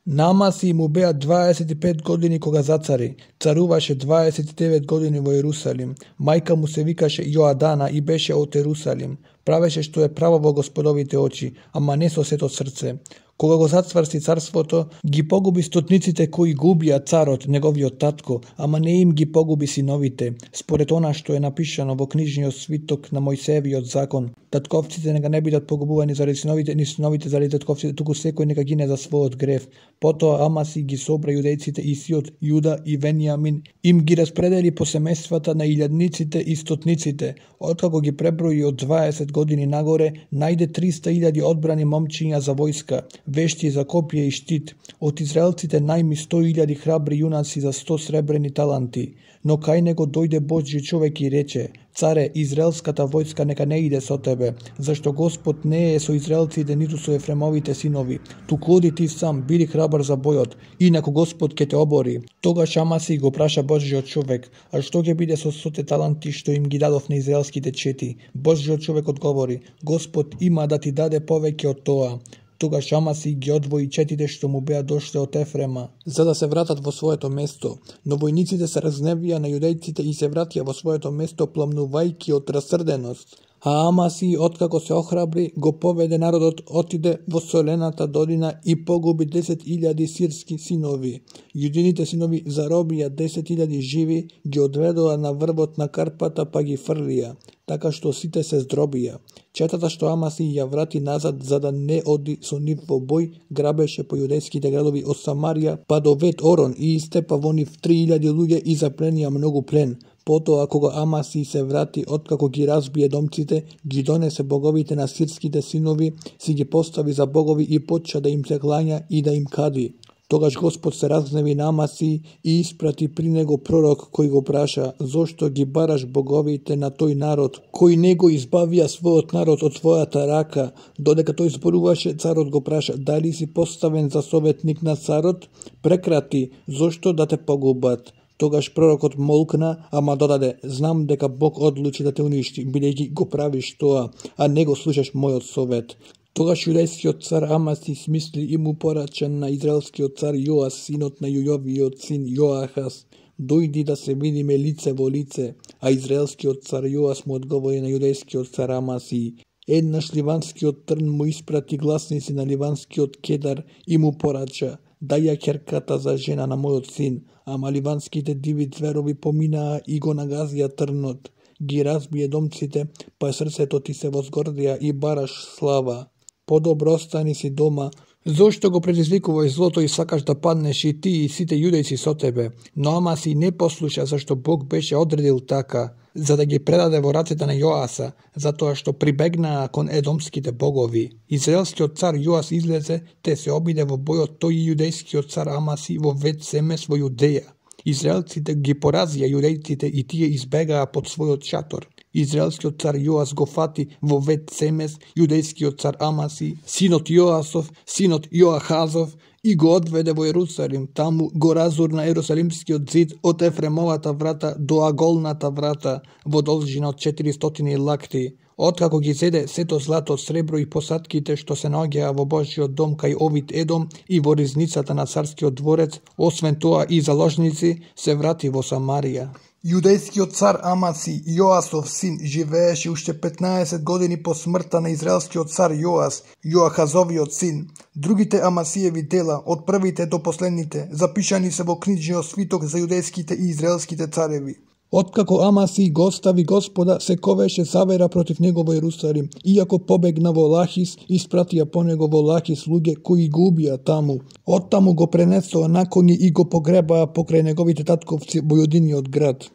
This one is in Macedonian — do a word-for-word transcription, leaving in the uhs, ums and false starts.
На Амасии му беа дваесет и пет години кога зацари. Царуваше дваесет и девет години во Ерусалим. Мајка му се викаше Јоадана и беше од Ерусалим. Правеше што е право во Господовите очи, ама не со сето срце. Кога го зацврсти царството, ги погуби стотниците кои губија царот, неговиот татко, ама не им ги погуби синовите, според она што е напишано во книжниот свиток на Мојсеевиот закон. Татковците нека не бидат погубувани заради синовите, ни синовите заради татковците, туку секој нека гине за својот грев. Потоа Амаси ги собра јудејците и сиот Јуда и Венијамин, им ги распредели по семејствата на илјадниците и стотниците. Откако ги преброи од дваесет години нагоре, најде триста илјади одбрани момчиња за војска, вешти за копие и штит. Од израелците најми сто илјади храбри јунаци за сто сребрени таланти. Но кај него дојде Божји човек и рече: Царе, израелската војска нека не иде со тебе, зашто Господ не е со израелците ниту со Ефремовите синови. Туку оди ти сам, биди храбар за бојот, инаку Господ ќе те обори. Тогаш Амаси го праша Божјиот човек: а што ќе биде со стоте таланти што им ги дадов на израелските чети? Божјиот човек одговори: Господ има да ти даде повеќе од тоа. Тогаш Амаси ги одвои четите што му беа дошле од Ефрема, за да се вратат во своето место. Но војниците се разневија на јудејците и се вратија во своето место пламнувајќи од расрденост. А Амаси, откако се охрабри, го поведе народот, отиде во солената долина и погуби десет илјади сирски синови. Јудините синови заробија десет илјади живи, ги одведоа на врвот на Карпата па ги фрлија, така што сите се здробија. Четата што Амаси ја врати назад за да не оди со нив во бој, грабеше по јудејските градови од Самарија па до Вет Орон и истепа во нив три илјади луѓе и запленија многу плен. Потоа, кога Амаси се врати, откако ги разбие домците, ги донесе боговите на сирските синови, си ги постави за богови и почна да им се клања и да им кади. Тогаш Господ се разгневи на Амаси и испрати при него пророк кој го праша: зошто ги бараш боговите на тој народ, кој не го избавија својот народ од твојата рака? Додека тој зборуваше, царот го праша: дали си поставен за советник на царот? Прекрати, зошто да те погубат? Тогаш пророкот молкна, ама додаде: знам дека Бог одлучи да те уништи, бидејќи го правиш тоа, а не го слушаш мојот совет. Тогаш јудејскиот цар Амаси смисли и му порача на израелскиот цар Јоас, синот на Јујовиот син Јоахас: дојди да се видиме лице во лице. А израелскиот цар Јоас му одговори на јудејскиот цар Амаси: еднаш ливанскиот трн му испрати гласници на ливанскиот кедар и му порача: дај ја ќерката за жена на мојот син. Ама ливанските диви зверови поминаа и го нагазија трнот. Ги разбие домците, па срцето ти се возгордија и бараш слава. Подобро остани си дома. Зошто го предизвикуваш злото и сакаш да паднеш и ти и сите јудејци со тебе? Но Амаси не послуша, зашто Бог беше одредил така, за да ги предаде во рацете на Јоаса, затоа што прибегнаа кон едомските богови. Израелскиот цар Јоас излезе, те се обиде во бојот тој и јудејскиот цар Амаси во Вет Семес во Јудеја. Израелците ги поразија јудејците и тие избегаа под својот шатор. Израелскиот цар Јоас го фати во Вет Семес јудејскиот цар Амаси, синот Јоасов, синот Јоахазов, и го одведе во Ерусалим. Таму го разурна Ерусалимскиот зид од Ефремовата врата до Аголната врата во должина од четиристотини лакти. Откако ги зеде сето злато, сребро и посадките што се наоѓаа во Божјиот дом кај Овид Едом и во ризницата на царскиот дворец, освен тоа и заложници, се врати во Самарија. Јудејскиот цар Амаси, Јоасов син, живееше уште петнаесет години по смртта на израелскиот цар Јоас, Јоахазовиот син. Другите Амасиеви дела, од првите до последните, запишани се во книжниот свиток за јудејските и израелските цареви. Откако Амаси го остави Господа, се ковеше завера против него во Ерусалим. Иако побегна во Лахис, испратија по него во Лахис луѓе кои го убија таму. Оттаму го пренесоа на коњи и го погребаа покрај неговите татковци во јудиниот град.